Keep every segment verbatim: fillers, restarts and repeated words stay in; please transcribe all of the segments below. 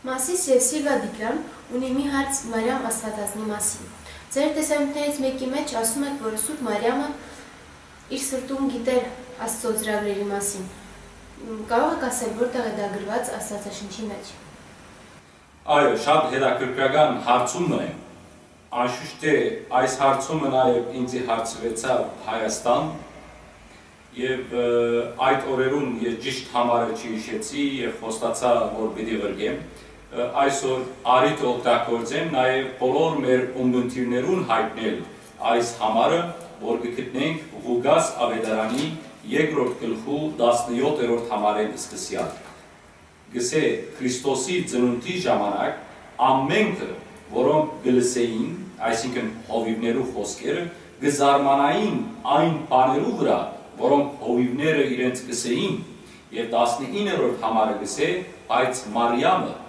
Մասիս եւ Սիլվա Դիգրան ունի մի հարց Մարիամ Աստվածածնի մասին։ Ձեր տեսանիքներից մէկի մէջ ասում եք, որ Սուրբ Մարիամը իր սրտում գիտեր Աստծո ծրագրերի մասին։ Մ, կարող եք ասել, որտեղ է դա գրված Աստվածաշնչի մեջ։ Այո, շատ հետաքրքրական հարցում է։ Անշուշտ է, այս հարցումը նաեւ ինձի հարցուեցաւ Հայաստան, եւ, ը, այդ օրերուն ես ճիշտ համարը չհիշեցի եւ խոստացայ, որ պիտի ղրկեմ։ Ը, այսօր առիթը օգտագործեմ նաեւ բոլոր մեր ունգընտիրներուն յայտնել այս համարը, որ կը գտնենք Ղուկաս աւետարանի երկրորդ գլխու տասնեօթերորդ համարէն սկսեալ։ Կսէ, Քրիստոսի ծնունդի ժամանակ ամէնքը, որոնք կը լսէին, այսինքն հովիւներու խօսքերը, կը զարմանային այն բաներու վրայ, որոնք հովիւները իրենց կսէին, եւ տասնիններորդ համարը կսէ, բայց Մարիամը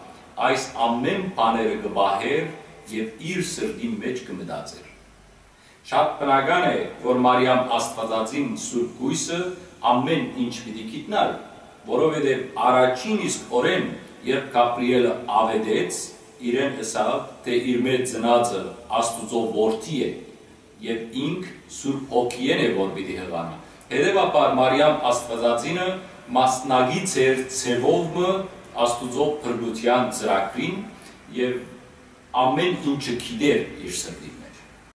այս ամէն բաները կը պահէր եւ իր սրտին մէջ կը մտածէր։ Շատ բնական է, որ Մարիամ Աստվածածին Սուրբ Կոյսը ամէն ինչ պիտի գիտնար, որովհետեւ առաջին իսկ օրէն, երբ Գաբրիէլը աւետեց, իրեն ըսաւ, թէ իր մէջ ծնածը Աստուծոյ որդի է, եւ ինք Սուրբ Հոգիէն է, որ պիտի յղանայ։ Հետեւաբար Մարիամ Աստվածածինը մասնակից էր ձեւով մը Աստուծոյ փրկութեան ծրագրին եւ ամէն ինչը գիտեր իր սրտին։